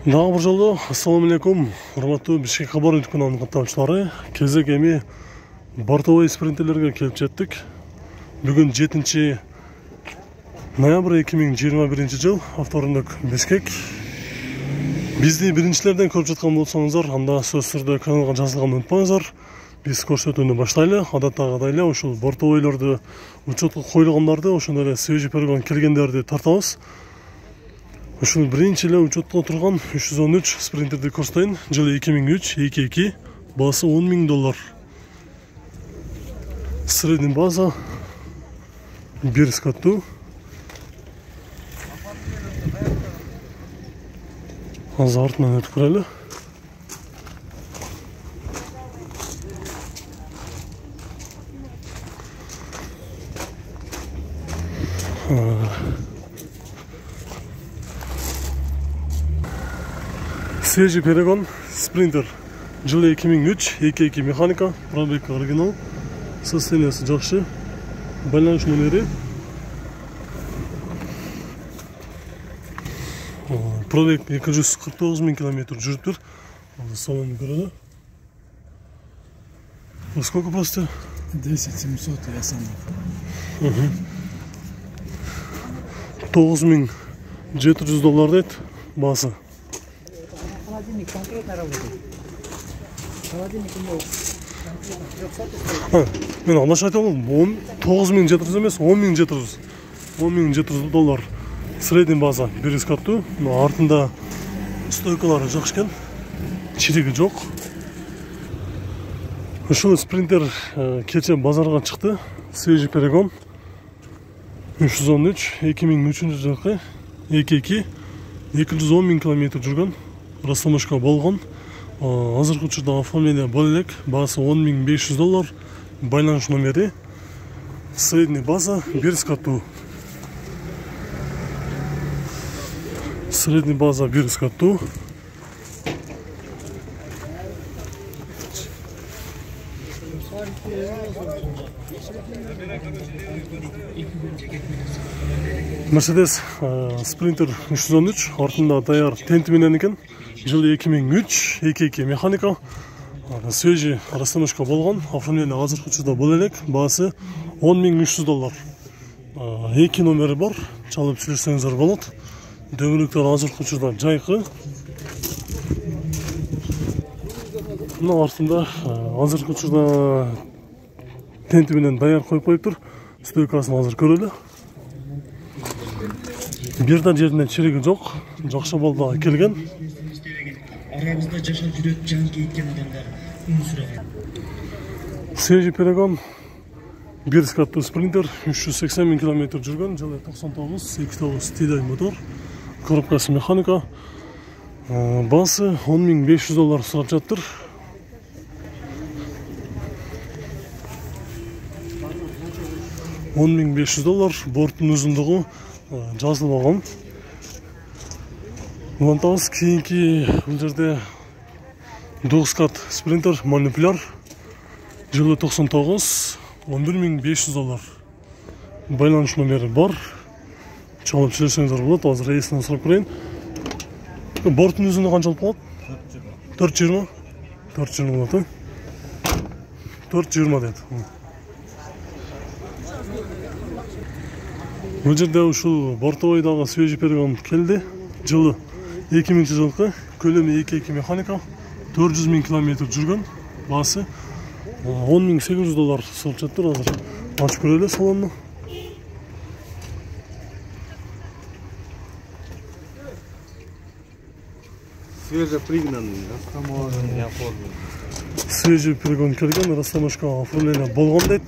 Дагы бир жолу ассаламу алейкум, урматтуу Бишкек кабар каналынын каттамчылары. Кезек эми бортовой спринтерлерге келип жеттик. Бүгүн 7 ноябрь 2021 жыл, авторундук Бишкек. Бизди биринчилерден көрүп жаткан болсоңуздар, анда сөзсүз түрдө каналга жазылганды унутпаңыздар. Биз көрсөтүүнү баштайлы. Адаттагыдай эле ушул бортовойлорду, учетко коюлгандарды, ошондой эле свежий перегон келгендерди тартабыз. Ушул биринчи эле учетто турган 313 спринтерди көрсөтөйүн. Жылы 2003-22, баасы $10,000. Средний база 1 скаттуу. Азыр артынан өтүп көрөлү. Свежий перегон спринтер. Жылы 2003-22 механика, пробег оригинал, состояниясы жакшы, байланыш номери. Пробег 249,000 км жүрүптүр. Салонду көрөлү. Сколько просто? 10700 я сам. $9,700 дейт баасы. Холодильник конкретно работает. Холодильник у него Мен андаш айтам, 9700 эмес, $10,700. Средний база 1 скаттуу. Артында стойкалары жакшы экен. Чириги жок. Ушул спринтер кече базарга чыкты. Свежий перегон 313 2003 жылкы 22 210,000 км жүргөн. Растамашка болгон. Азыркы учурда оформление боло элек. Баасы $10,500. Байланыш номери. Средний база 1 скаттуу. Средний база 1 скаттуу. Mercedes Sprinter 313 артында даяр тенти менен экен. Жылы 2003-22 механика. Свежий расстановка болгон. Оформление азыркы учурда боло элек. Баасы $10,300. 2 номери бар. Чалып сүйлөшсөңүздөр болот. Дөмүрүктөр азыркы учурда жайкы. Мына артында азыркы учурда тенти менен даяр коюп коюптур. Стойкасын азыр көрөлү. Бир да жеринде чириги жок. Жакшы балда келген. Арабызда жашап жүрөт жан кейткен адамдар сүрөгөн. Свежий перегон 1 скаттуу спринтер 380,000 км жүргөн. Жылы 99-29 тидай мотор. Коробкасы механика. Баасы $10,500 сурап жаттыр. $10,500. Борттун узундугу жазылбаган. Улантабыз кийинки бул жерде 9 скат спринтер манипуляр. Жылы 99 $11,500. Байланыш номери бар. Чалып сүйлөшсөңүздөр болот. Азыр рейсинен сурап көрөйүн. Борттун узундугу канчалык болот? 420. 420 болот. 420 дейт. Бул жерде ушул бортовойдагы свежий перегон келди. Жылы 2000 жылкы, көлөмү 22 механика, 400,000 км жүргөн. Баасы $10,800 сурап жаттыр. Азыр ачып көрөлү салонду. Свежепригнанный, растаможенный, оформленный. Свежий перегон келген, растамашка оформление болгон дейт.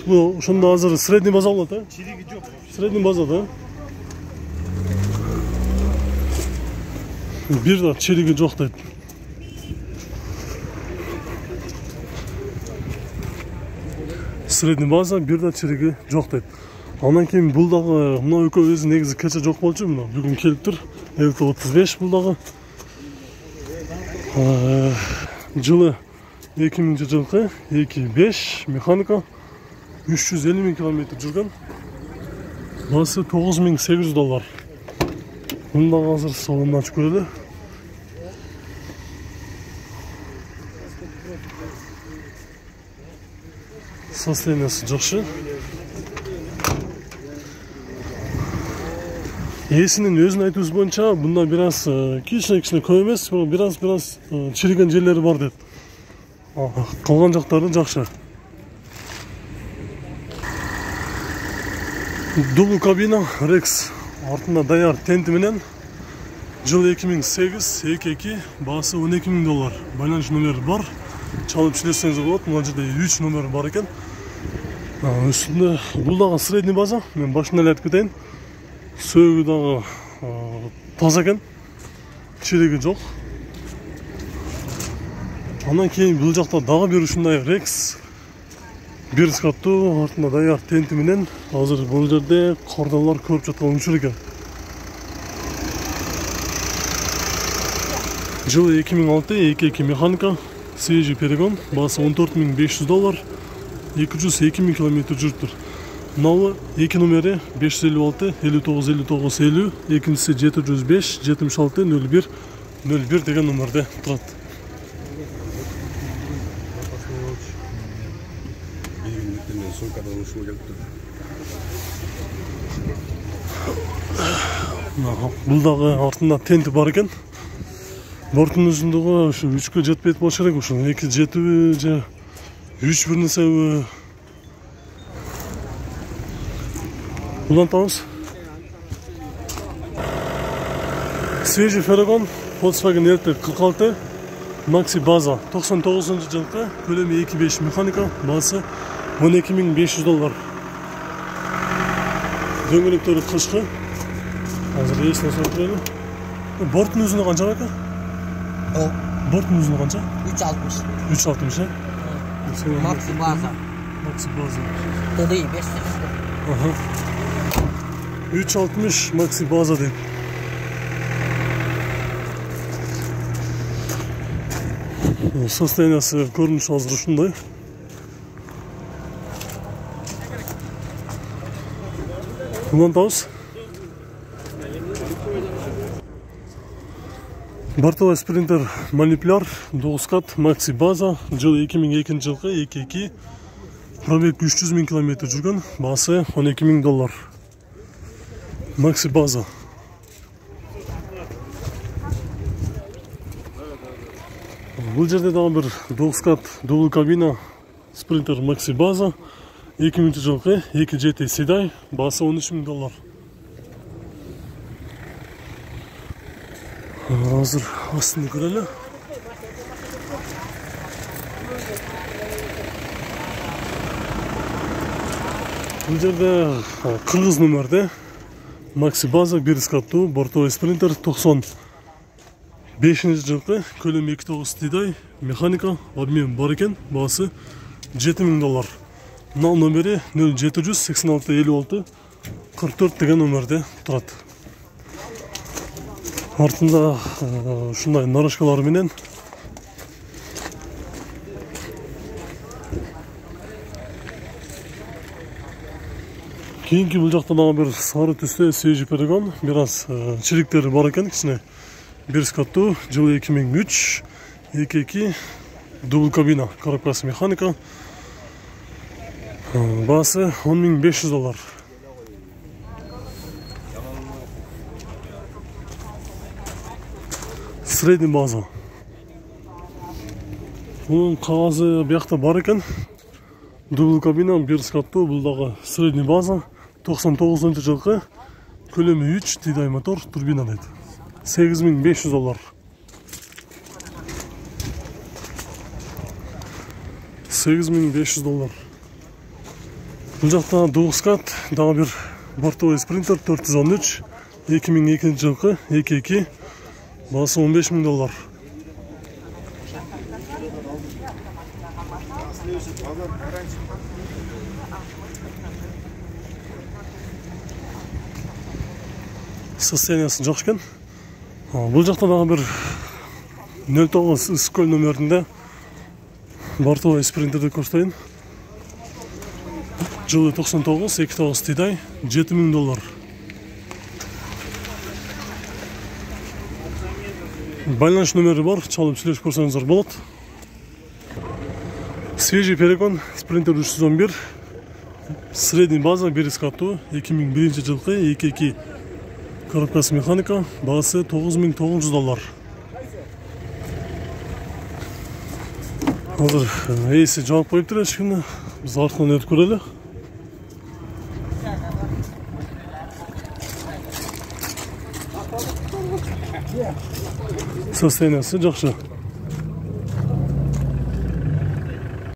Бул ошондо азыр средний база болот, э? Чириги жок. Средний база да. Бир да чириги жок дейт. Средний база, бир да чириги жок дейт. Андан кийин бул дагы мына экөө өзү негизи кече жок болчу, мына бүгүн келиптир. L35 бул дагы. Жылы 2000 жылкы 25 механика 350,000 км жүргөн. Баасы $9,800. Мында азыр салонду ачып көрөлү. состояниясы жакшы. Ээсинин өзүнүн айтуусу боюнча мында бир аз кичине көп эмес, бир аз чириген жерлери бар дейт. Калган жактары жакшы. Дубл кабина Rex артында даяр тенти менен жыл 2008 2.2 баасы $12,000. Байланыш номери бар. Чалып иштетсеңиз болот. Мына жерде 3 номер бар экен. Үстүндө бул дагы средний база. Мен башында эле айтып кетейин. Сөөгү дагы таза экен. Чириги жок. Андан кийин бул жакта дагы бир ушундай Rex бир скаттуу артында даяр тенти менен азыр бул жерде кардалар көрүп жаткан учур экен. Жылы 2006 2.2 механика, свежий перегон, баасы $14,500, 202,000 км жүрүптүр. Мынабы 2 номери 556 59 59 50, экинчиси 705 76 01 01 деген номерде турат. Бул дагы артында тенти бар экен. Борттун узундугу ушу 3-кө жетпейт болуш керек, ушу 2 жетиби же 3 бир нерсеби. Улантабыз. Свежий феррагон Volkswagen RT 46 Maxi база 99-жылкы, көлөмү 2.5 механика, баасы $12,500. Дөңгөлөктөрү кышкы. Азыр эсине сорап берели. Борттун узуну канча экен? Борттун узуну канча? 360. 360, э? Maxi база. Maxi база. TDI 500. 360 Maxi база дейт. Состояниясы көрүнүшү азыр ушундай. Улантабыз. Бортовой спринтер манипуляр 9 кат Maxi база, жылы 2002 жылкы 2.2, пробег 300,000 км жүргөн, баасы $12,000. Maxi база. Бул жерде дагы бир 9 кат дубл кабина спринтер Maxi база, 2000 жылкы 2 GT седай, баасы $13,000. Азыр астын көрөлү. Бул жерде кыргыз номерде Maxi база бир скаттуу бортовой спринтер 95 жылкы, көлөмү 2.9 тидай, механика, обмен бар экен, баасы $7,000. Мына номери 0700 86 56 44 деген номерде турат. Артында ушундай нарашкалар менен кийинки бул жакта дагы бир сары түстө свежий перегон, бир аз чириктери бар экен, кичине бир скаттуу, жылы 2003 2.2 дубл кабина, коробкасы механика, баасы $10,500. Средний база. Бунун кагазы биякта бар экен. Дубл кабина, бир скаттуу, бул дагы средний база, 99 жылкы, көлөмү 3 тидай мотор, турбина дейт. $8,500. $8,500. Бул жакта 9 кат, дагы бир бортовой спринтер 413, 2002 жылкы, 2.2, баасы $15,000. Состояниясы жакшы экен. Бул жакта дагы бир 09 Ысыккөл номеринде бортовой спринтерди көрсөтөйүн. Жылы 99 2.9 тидай, $7,000. Байланыш номери бар, чалып сүйлөшүп көрсөңүздөр болот. Свежий перегон Sprinter 311. Средний база 1 каттуу 2001 жылкы 2.2 коробкасы механика, баасы $9.900. Азыр эйси жабып коюптур эшигини. Биз артынан өтүп көрөлү. Состояниясы жакшы.